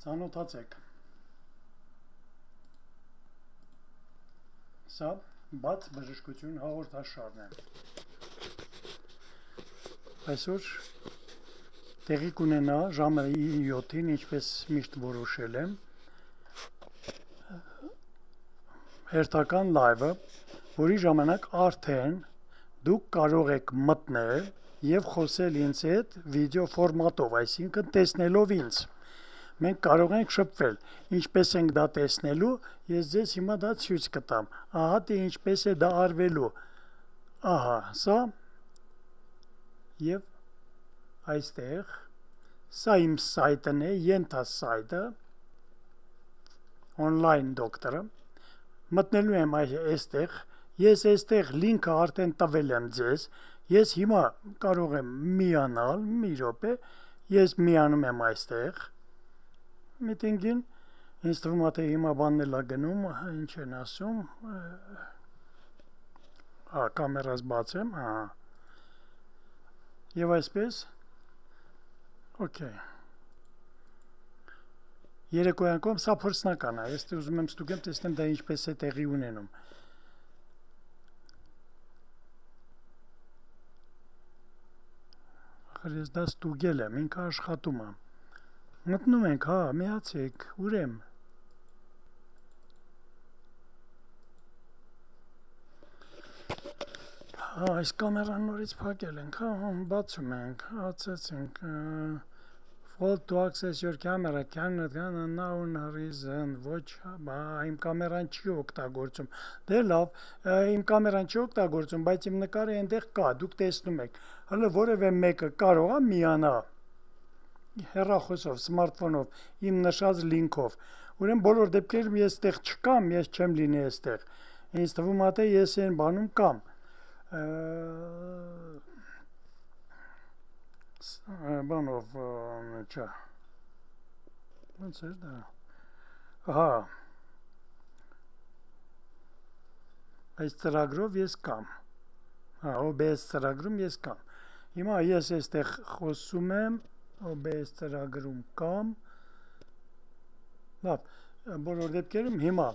Ծանոթացեք։ Սա բաց բժշկություն հաղորդաշարն է։ Այսօր տեղի կունենա ժամը 7-ին, ինչպես միշտ որոշել եմ, հերթական լայվը, որի ժամանակ արդեն դուք կարող եք մտնել և խոսել ինձ հետ վիդեո ֆորմատով, այսինքն տեսնելով ինձ։ Մենք կարող ենք շփվել, ինչպես ենք դա տեսնելու, ես ձեզ հիմա դա ցույց կտամ, ահա թե ինչպես է դա արվելու, ահա, սա, և այստեղ, սա իմ սայտն է, ենթասայտը, online դոկտորը, մտնելու եմ այստեղ, ես այստեղ լինքը արդեն տվել եմ ձեզ, ես հիմա կարող եմ միանալ, մի րոպե, ես միանում եմ այստեղ, միտինգին, ինձ թվում է թե հիմա բանն էլ է գնում, ինչ են ասում, կամերաս բացեմ, և այսպես, օքեյ, երեկոյան կողմ, սա փորձնական է, ես ուզում եմ ստուգեմ, տեսնեմ դա ինչպես է տեղի ունենում։ Ախր ես դա ստուգել եմ, ինքը աշխատում է։ Մտնում ենք, հա, միացեք, ուր եմ։ Հա, այս կամերան նորից փակել ենք, հա, բացում ենք, ացեցինք, fault to access your camera, cannot unknown reason, ոչ, իմ կամերան չի օգտագործում, դե լավ, իմ կամերան չի օգտագործում, բայց իմ նկարը այնտեղ կա, դուք տեսնում եք, հələ որևէ մեկը կարող է միանա հեռախոսով, սմարթֆոնով, իմ նշած լինքով, ուրեմն բոլոր դեպքերում ես այստեղ չկամ, ես չեմ լինի այստեղ, ինձ թվում է թե ես այն բանում կամ, բանով, չա, ոնց էր դա, հա, այս ծրագրով ես կամ, հա, OBS ծրագրում ես կամ, հիմա ես այստեղ խոսում եմ, OBS ծրագրում կամ, լավ, բոլոր դեպքերում հիմա,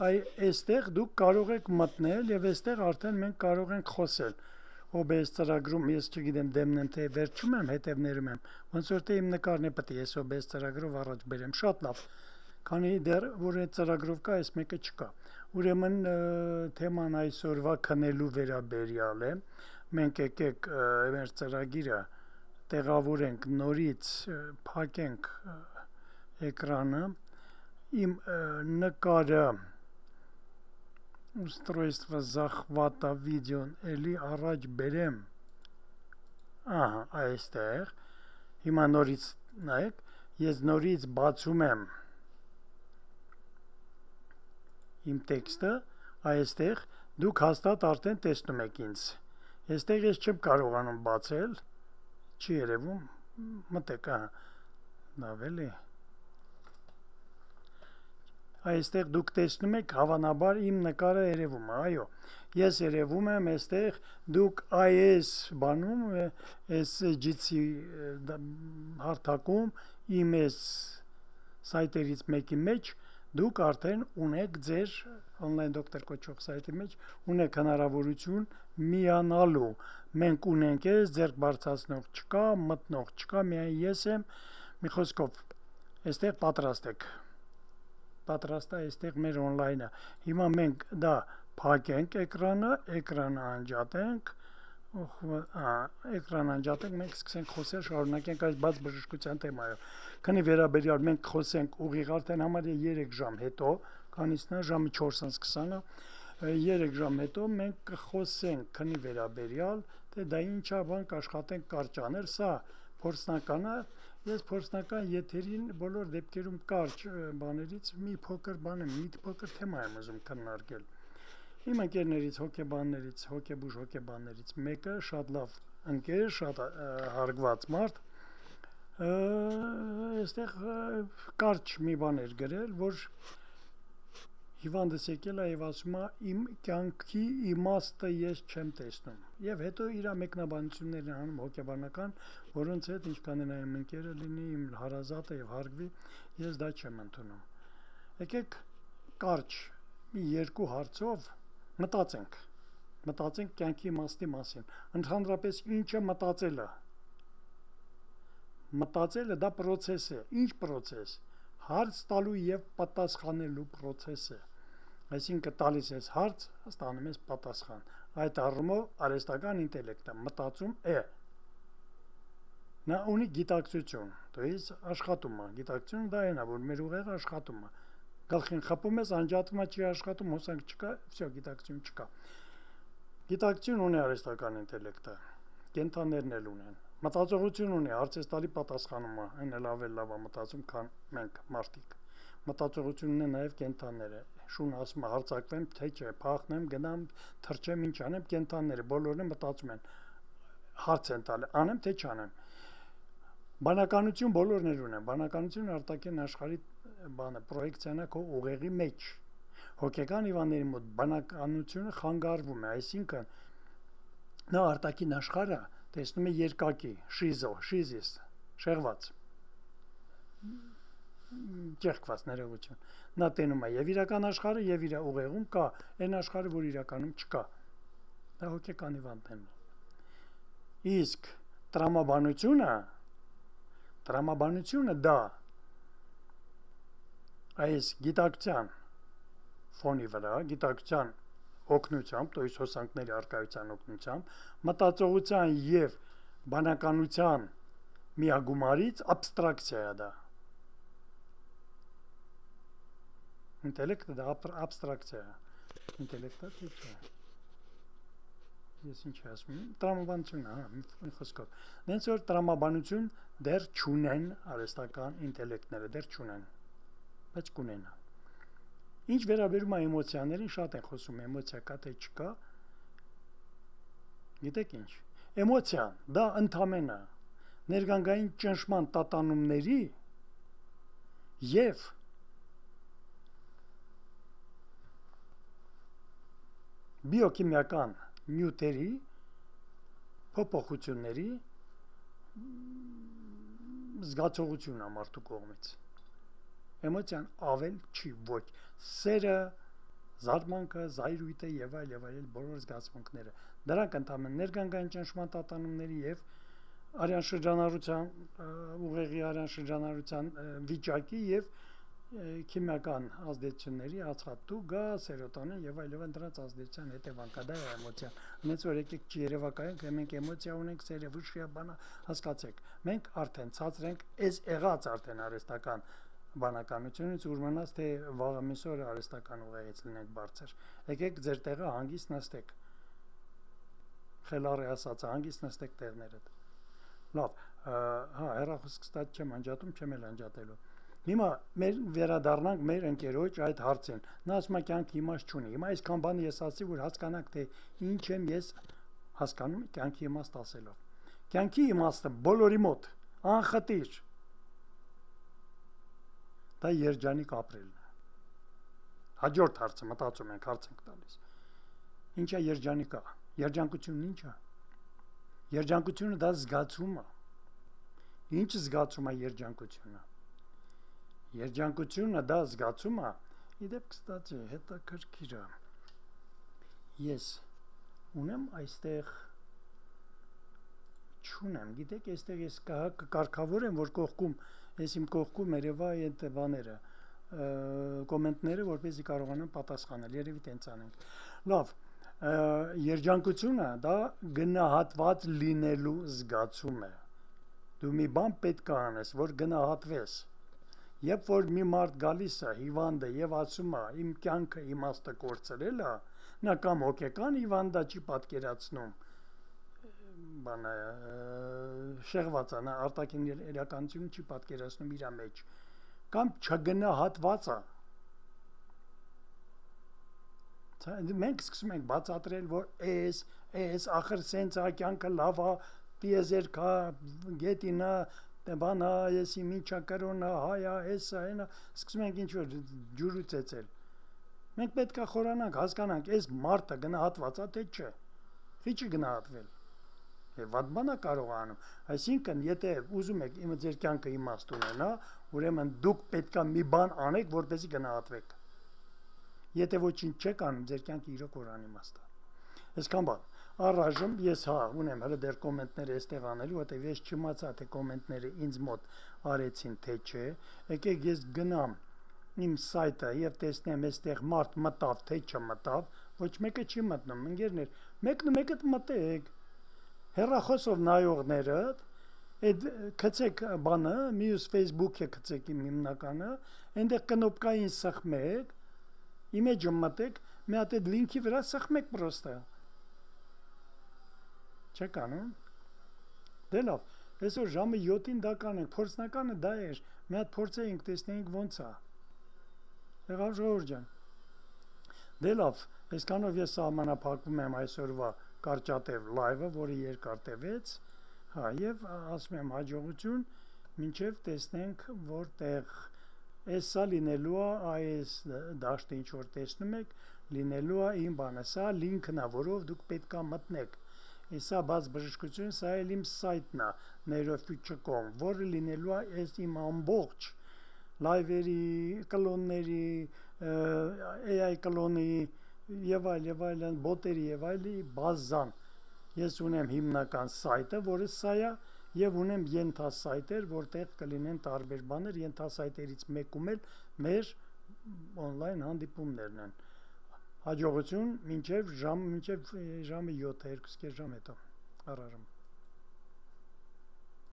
այստեղ դուք կարող եք մտնել և այստեղ արդեն մենք կարող ենք խոսել, OBS ծրագրում, ես չգիտեմ դեմն եմ, թե վերջում եմ, հետևներում եմ, ոնց որ թե իմ նկարն է պետք է ես OBS ծրագրով առաջ բերեմ, շատ լավ, քանի դեռ որ այդ ծրագրով կա, այս մեկը չկա, ուրեմն թեման այսօրվա քնելու վերաբերյալ է, մենք եկեք մեր ծրագիրը տեղավորենք նորից, փակենք էկրանը, իմ նկարը устройство захвата видеոն էլի առաջ բերեմ, ահա, այստեղ, հիմա նորից նայեք, ես նորից բացում եմ իմ տեքստը, այստեղ դուք հաստատ արդեն տեսնում եք ինձ, այստեղ ես չեմ կարողանում բացել, չի երևում, մտեք, լավ էլի, այստեղ դուք տեսնում եք հավանաբար իմ նկարը երևում է, այո, ես երևում եմ այստեղ, դուք այս բանում, SGC հարթակում, իմ այս սայտերից մեկի մեջ, դուք արդեն ունեք ձեր online դոկտոր կոչող սայտի մեջ, ունեք հնարավորություն միանալու, մենք ունենք ես, ձեռք բարձրացնող չկա, մտնող չկա, միայն ես եմ, մի խոսքով, այստեղ պատրաստ եք, պատրաստ է այստեղ մեր օնլայնը, հիմա մենք դա փակենք էկրանը անջատենք, էկրան անջատենք, մենք սկսենք խոսել, շարունակենք այս բաց բժշկության թեմայով, քանի վերաբերյալ մենք խոսենք ուղիղ արդեն համարյա 3 ժամ հետո, քանիսն է ժամը 4:20-ը, 3 ժամ հետո մենք կխոսենք քնի վերաբերյալ, թե դա ինչա բան կաշխատենք կարճ անել, սա փորձնական է, ես փորձնական եթերին բոլոր դեպքերում կարճ բաներից մի փոքր բան եմ, մի փոքր թեմա եմ ուզում քննարկել։ Իմ ընկերներից, հոգեբուժ մեկը շատ լավ ընկեր, շատ հարգված մարդ, այստեղ կարճ մի բան էր գրել, որ հիվանդս եկել է եւ ասում է իմ կյանքի իմաստը ես չեմ տեսնում եւ հետո իր մեկնաբանություններն են անում հոգեբանական, որոնց հետ ինչքան էլ իմ ընկերը լինի, իմ հարազատը եւ հարգվի, ես դա չեմ ընդունում։ Եկեք կարճ մի երկու հարցով մտածենք կյանքի իմաստի մասին։ Ընդհանրապես ինչը մտածելը։ Մտածելը դա process է։ Ինչ process։ Հարց տալու եւ պատասխանելու process է։ Այսինքն տալիս ես հարց, ստանում ես պատասխան։ Այդ առումով արհեստական ինտելեկտը մտածում է։ Նա ունի գիտակցություն, то есть աշխատում է։ Գիտակցությունը դա այն է, որ մեր ուղեղը աշխատում է։ Գլխին խփում ես, անջատվում է, չի աշխատում, հոսանք չկա, всё, գիտակցություն չկա։ Գիտակցություն ունի արհեստական ինտելեկտը, կենթանիներն էլ ունեն։ Մտածողություն ունի, հարցես տալի պատասխանում է, այն էլ ավելի լավ է մտածում, քան մենք մարդիկ։ Մտածողությունն է նաև կենթանիները։ Շուն ասում է հարցակվեմ, թե չէ, փախնեմ, գնամ, թռչեմ, ինչ անեմ, կենթանիները բոլորն մտածում են։ Հարց են տալի, անեմ թե չանեմ։ Բանականություն բոլորն էլ ունեն։ Բանականությունը արտաքին աշխարհի բանը պրոյեկցիան է քո ուղեղի մեջ։ Հոգեկան հիվանդների մոտ բանականությունը խանգարվում է, այսինքն նա արտաքին աշխարհը տեսնում է երկակի, շիզիս, շեղված, ճեղքված ներողություն։ Նա տենում է եւ իրական աշխարհը եւ իր ուղեղում կա այն աշխարհը, որ իրականում չկա։ Դա հոգեկան հիվանդներն են։ Իսկ տրամաբանությունը դա այս գիտակցության ֆոնի վրա, գիտակցության օգնությամբ, то есть հոսանքների արկայության օգնությամբ, մտածողության եւ բանականության միագումարից աբստրակցիա է դա։ Ինտելեկտը դա աբստրակցիա է։ Ինտելեկտը չէ։ Ես ինչ ասում եմ, տրամաբանություն, մի խոսքով։ Նենց որ տրամաբանություն դեռ չունեն արհեստական ինտելեկտները, դեռ չունեն, բայց կունենան։ Ինչ վերաբերում է էմոցիաներին, շատ են խոսում, էմոցիա կա թե չկա։ Գիտեք ինչ։ Էմոցիան դա ընդամենը ներգանգային ճնշման տատանումների եւ բիոքիմիական նյութերի փոփոխությունների զգացողությունն է մարդու կողմից։ Էմոցիան ավել չի ոչ սերը, զարմանքը, զայրույթը եւ այլ բոլոր զգացմունքները։ Դրանք ընդհանրեն ներգանգային ճնշման տատանումների եւ արյան շրջանառության ուղեղի արյան շրջանառության վիճակի եւ քիմիական ազդեցությունների ածխաթու, գազ, սերոտոնին եւ այլն դրանց ազդեցության հետևանք է դա էմոցիան։ Հենց որ եկեք երևակայենք, մենք էմոցիա ունենք, սերը, վշիա, բանա, հասկացեք։ Մենք արդեն ցածր ենք, այս եղած արդեն արհեստական բանականությունից ուրմանած թե վաղը միսօրը արհեստական ուղեղից լինենք բարձր։ Եկեք ձեր տեղը հանգիստ նստեք։ Խելառի ասած, հանգիստ նստեք տեղներդ։ Լավ, հա, հեռախոսը ստաց չեմ անջատում, չեմ էլ անջատելու։ Հիմա մեր վերադառնանք մեր ընկերոջ այդ հարցին։ Նա ասում է կյանքի իմաստ չունի։ Հիմա այսքան բան ես ասացի, որ հասկանաք թե ինչ եմ ես հասկանում կյանքի իմաստ ասելով։ Կյանքի իմաստը բոլորի մոտ անխտիր դա երջանիկ ապրելն է։ Հաջորդ հարցը մտածում ենք, հարց ենք տալիս։ Ինչա երջանիկա։ Երջանկությունն ինչ է։ Երջանկությունը դա զգացում է։ Ինչ զգացում է երջանկությունը։ Երջանկությունը դա զգացում է։ Իդեպ, կստացի, հետաքրքիր է։ Ես ունեմ այստեղ չունեմ, գիտեք, այստեղ ես կարգավորեմ, որ կողքում, ես իմ կողքում երևա այդ բաները, կոմենտները, որպեսզի կարողանամ պատասխանել, երևի տենց անենք։ Լավ, երջանկությունը դա գնահատված լինելու զգացում է։ Դու մի բան պետք է անես, որ գնահատվես։ Երբ որ մի մարդ գալիս է հիվանդ է եւ ասում է իմ կյանքը իմաստը կորցրել է, նա կամ հոգեկան հիվանդա չի պատկերացնում, բանը շեղված է, նա արտաքին իրականությունը չի պատկերացնում իր մեջ, կամ չգնահատված է։ Մենք սկսում ենք բացատրել, որ էս ախր սենց է, կյանքը լավ է, տիեզերք է, գետին է, բանա, ես իմ ինչա կրոնա, հայա, էսա, այնա, սկսում ենք ինչ-որ ջուրու ծեծել։ Մենք պետք է խորանանք, հասկանանք, այս մարդը գնահատված է թե չէ։ Չի գնահատվել։ Եվ վատ բան է կարող անում։ Այսինքն, եթե ուզում եք իմ ձեր կյանքը իմաստ ունենա, ուրեմն դուք պետք է մի բան անեք, որպեսզի գնահատվեք։ Եթե ոչինչ չեք անում, ձեր կյանքը իրոք որ անիմաստ է։ Այսքան բան։ Առայժմ ես ունեմ հələ դեռ կոմենտները այստեղ անելու, որտեղ ես չիմացա թե կոմենտները ինձ մոտ արեցին թե չէ։ Եկեք ես գնամ իմ սայթը եւ տեսնեմ այստեղ մարդ մտավ թե չմտավ, ոչ մեկը չի մտնում, ընկերներ, մեկը մտեք։ Հեռախոսով նայողները, այդ գցեք բանը, մյուս Facebook-ը գցեք իմ հիմնականը, այնտեղ կնոպկային սխմեք, image-ը մտեք, մի հատ այդ լինքի վրա սխմեք պրոստը։ Չեք անում։ Դե լավ, այսօր ժամը 7-ին դա կանենք, փորձնականը դա էր, մի հատ փորձեինք, տեսնեինք ոնց է։ Եղավ ժողովուրդ ջան։ Դե լավ, այսքանով ես սահմանափակվում եմ այսօրվա կարճատև լայվը, որը երկար տևեց, հա, եւ ասում եմ հաջողություն, մինչեւ տեսնենք որտեղ էսա լինելու է, այս դաշտը ինչ որ տեսնում եք, լինելու է իմ բանը, սա լինքն է, որով դուք պետք է մտնեք։ Սա բաց բժշկություն, սա էլ իմ սայթն է, neurofuture.com, որը լինելու է այս իմ ամբողջ լայվերի, կլոնների, AI կլոնի եւ այլն, բոտերի եւ այլի բազան։ Ես ունեմ հիմնական սայթը, որը սա է, եւ ունեմ ենթասայթեր, որտեղ կլինեն տարբեր բաներ, ենթասայթերից մեկում էլ մեր on-line հանդիպումներն են։ Հաջողություն մինչև ժամը 7, 2 ժամ հետո։ Առայժմ